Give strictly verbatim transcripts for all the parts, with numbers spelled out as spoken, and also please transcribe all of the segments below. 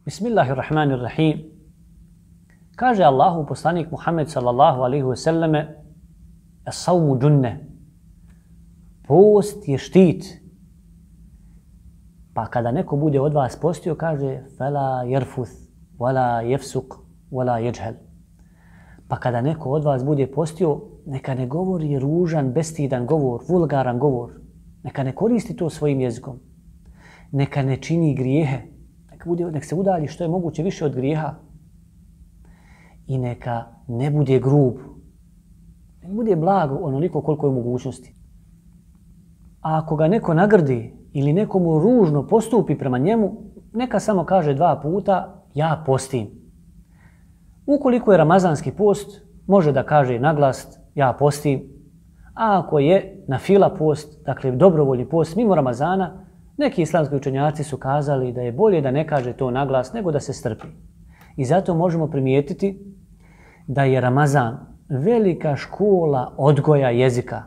Bismillahirrahmanirrahim. Kaže Allahu poslanik Muhammed sallallahu alaihi wa sallame: As-savmu džunne. Post je štit. Pa kada neko bude od vas postio, kaže: Fela jerfuth, wala jefsuk, wala jeđhel. Pa kada neko od vas bude postio, neka ne govori ružan, bestidan govor, vulgaran govor. Neka ne koristi to svojim jezikom. Neka ne čini grijehe. Neka, bude, neka se udalji što je moguće više od grijeha. I neka ne bude grub. Neka bude blago onoliko koliko je mogućnosti. A ako ga neko nagrdi ili nekomu ružno postupi prema njemu, neka samo kaže dva puta: ja postim. Ukoliko je ramazanski post, može da kaže naglas: ja postim. A ako je na fila post, dakle dobrovoljni post mimo Ramazana, neki islamski učenjaci su kazali da je bolje da ne kaže to naglas nego da se strpi. I zato možemo primijetiti da je Ramazan velika škola odgoja jezika.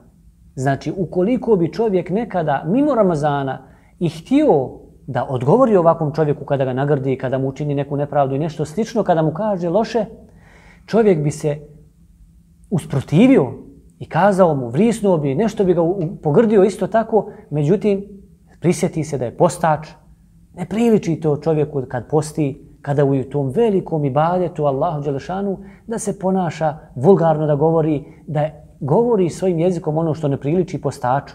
Znači, ukoliko bi čovjek nekada mimo Ramazana i htio da odgovori ovakvom čovjeku kada ga nagrdi, kada mu učini neku nepravdu i nešto slično, kada mu kaže loše, čovjek bi se usprotivio i kazao mu, vrisnuo bi, nešto bi ga pogrdio isto tako, međutim, prisjeti se da je postač, ne priliči to čovjeku kad posti, kada u tom velikom ibadetu Allahu dželešanu, da se ponaša vulgarno, da govori, da govori svojim jezikom ono što ne priliči postaču.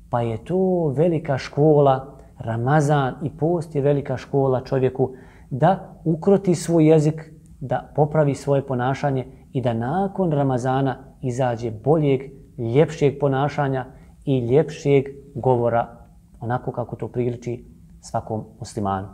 Pa je to velika škola, Ramazan i post je velika škola čovjeku da ukroti svoj jezik, da popravi svoje ponašanje i da nakon Ramazana izađe boljeg, ljepšeg ponašanja i ljepšeg govora, onako kako to priliči svakom muslimanu.